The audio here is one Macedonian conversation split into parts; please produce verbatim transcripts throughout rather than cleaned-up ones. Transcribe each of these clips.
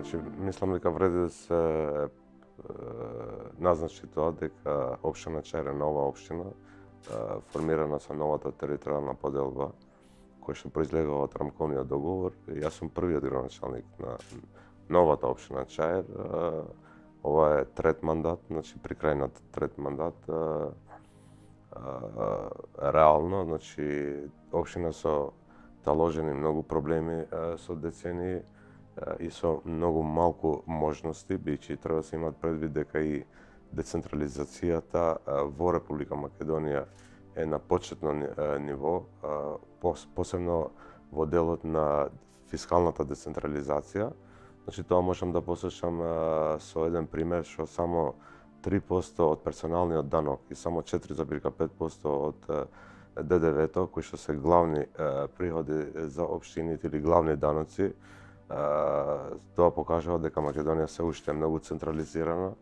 Значи, мислам дека вреди да се назначи тоа дека општина Чаир е нова општина, формирана со новата територијална поделба, која што произлегува од рамковниот договор. Јас сум првиот градоначалник на новата општина Чаир. Ова е трет мандат, значи при крај на трет мандат. Реално, значи општина со таложени многу проблеми со децении и со многу малку можности, бидејќи треба да се имат предвид дека и децентрализацијата во Република Македонија е на почетно ниво, посебно во делот на фискалната децентрализација. Значи тоа можам да посочам со еден пример што само три посто од персоналниот данок и само четири запирка пет посто од Д Д В-то, кои што се главни приходи за општините или главни даноци, тоа покажува дека Македонија се уште е многу централизирана,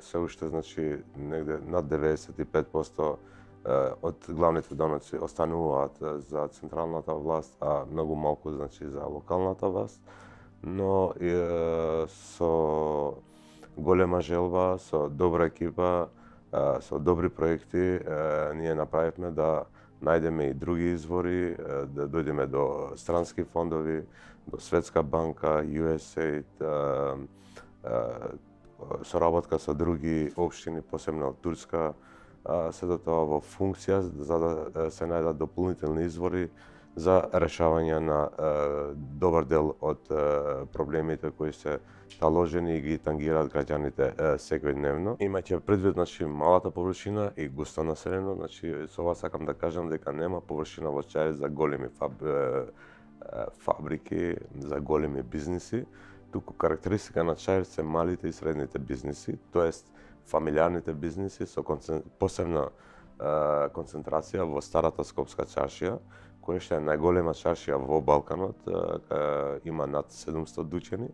се уште, значи, негде над деведесет и пет посто од главните даноци остануваат за централната власт, а многу малку, значи, за локалната власт. Но е, со голема желба, со добра екипа, со добри проекти, ние направивме да најдеме и други извори, да дојдеме до странски фондови, до Светска банка, Ю Ес Ей Д, соработка со други општини, посебно од Турска, сето тоа во функција за да се најдат дополнителни извори за решавање на добар дел од проблемите кои се таложени и ги тангираат граѓаните секојдневно. Имајќи предвид, значи, малата површина и густо населено, значи со ова сакам да кажам дека нема површина во Чаир за големи фаб... фабрики, за големи бизниси, туку карактеристика на Чаир се малите и средните бизниси, тоест фамилиарните бизниси со концен... посебна концентрација во старата Скопска чаршија, која што е најголема чаршија во Балканот, има над седумстотини дучени.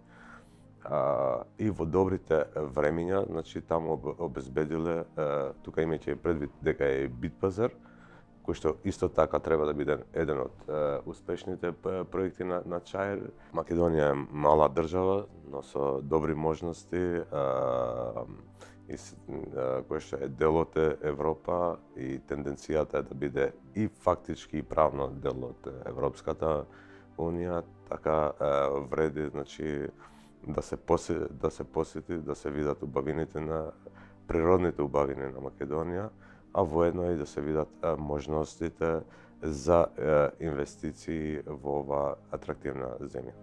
И во добрите времиња, значи таму обезбедиле, тука имајќи предвид дека е Битпазар, кој што исто така треба да биде еден од успешните проекти на, на Чаир. Македонија е мала држава, но со добри можности, и кој што е дел од Европа и тенденцијата е да биде и фактички и правно дел од Европската Унија, така вреди, значи, да се посети, да се посети, да се видат убавините на природните убавини на Македонија, а воедно и да се видат можностите за инвестиции во оваа атрактивна земја.